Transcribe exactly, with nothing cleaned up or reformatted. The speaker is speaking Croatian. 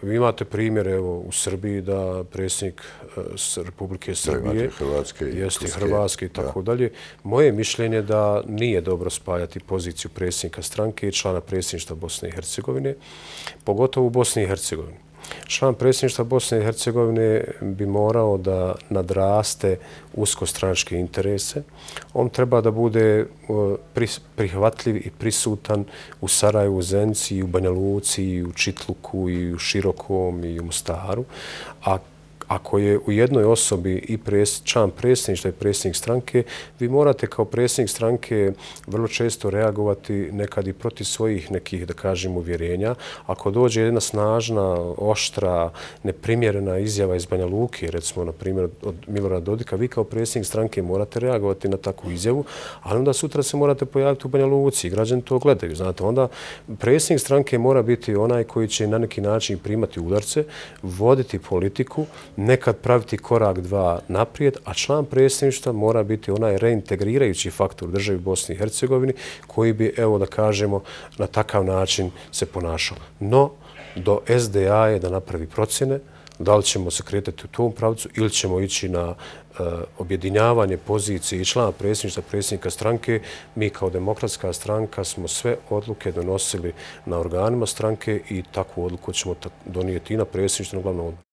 Vi imate primjer evo, u Srbiji da predsjednik Republike Srbije jeste Hrvatske i tako dalje. Moje mišljenje da nije dobro spajati poziciju predsjednika stranke i člana predsjedništva Bosne i Hercegovine, pogotovo u Bosni i Hercegovini. Član predsjedništva Bosne i Hercegovine bi morao da nadraste uskostranačke interese. On treba da bude prihvatljiv i prisutan u Sarajevu, u Zenici, i u Banja Luci, i u Čitluku, i u Širokom, i u Mostaru. A ako je u jednoj osobi i član predsjedništva i predsjednik stranke, vi morate kao predsjednik stranke vrlo često reagovati nekad i protiv svojih nekih, da kažem, uvjerenja. Ako dođe jedna snažna, oštra, neprimjerena izjava iz Banja Luke, recimo, na primjer, od Milorada Dodika, vi kao predsjednik stranke morate reagovati na takvu izjavu, ali onda sutra se morate pojaviti u Banja Luci i građani to gledaju. Znate, onda predsjednik stranke mora biti onaj koji će na neki način primati udarce, voditi politiku, nekad praviti korak dva naprijed, a član predsjedništva mora biti onaj reintegrirajući faktor u državi Bosni i Hercegovini koji bi, evo da kažemo, na takav način se ponašao. No, do S D A je da napravi procjene da li ćemo se kretati u tom pravcu ili ćemo ići na objedinjavanje pozicije i člana predsjedništva, predsjednika stranke. Mi kao demokratska stranka smo sve odluke donosili na organima stranke i takvu odluku ćemo donijeti i na predsjedništvu, na glavnom odboru.